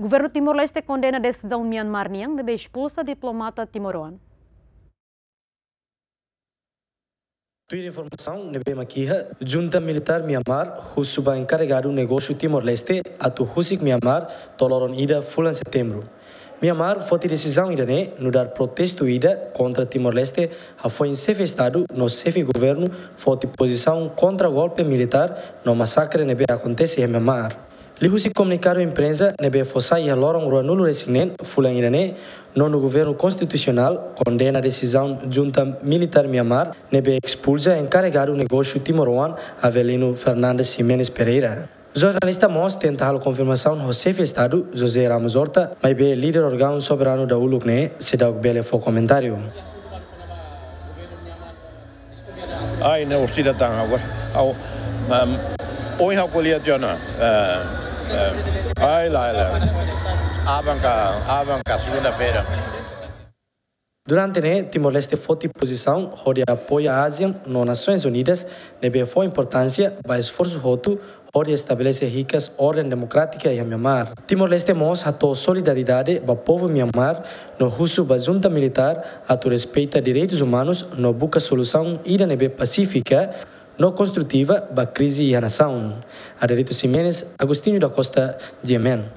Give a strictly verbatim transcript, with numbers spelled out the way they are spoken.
Governu Timor-Leste kondena desizaun Myanmar nian ne'ebé espulsa diplomata timoroan. Tuir informasaun ne'ebé mak iha, junta militár Myanmar husu ba enkaregadu negósiu Timor-Leste atu husik Myanmar to'o loron ida fulan Setembru. Myanmar foti desizaun ida-ne'e nu'udar protestu ida kontra Timor-Leste hafoin xefe Estadu no xefe Governu foti pozisaun kontra golpe militár no masakre ne'ebé akontese iha Myanmar. Liuhusi komunikadu imprensa ne'ebé fó sai iha loron ruanulu-resin-neen fulan ida-ne'e, Nonu Governu Konstitusionál kondena desizaun junta militár Myanmar ne'ebé espulsa enkaregadu negósiu timoroan Avelino Fernandes Ximenes Pereira. Jornalista mós tenta halo konfirmasaun ho xefe Estadu José Ramos Horta, maibé líder órgaun soberanu dahuluk ne'e seidauk bele fó komentáriu. Ai, ne'e orsida tan agora. Au, um, oin ha'u ko'alia tiha ona. Eh, eh, ai, la, la. Aban ka, aban ka segunda-feira. Durante ne'e, Timor-Leste foti pozisaun hodi apoia ASEAN no Nasoins Unidas, ne'ebé fó importánsia ba esforsu hotu hodi estabelese hikas orden demokrátika iha Myanmar. Timor-Leste mós hato'o solidariedade ba povu Myanmar no husu ba junta militár atu respeita direitus umanus no buka solusaun ida ne'ebé pasífika no konstrutiva ba krize iha nasaun. Aderito Ximenes, Agostinho da Costa, G M N.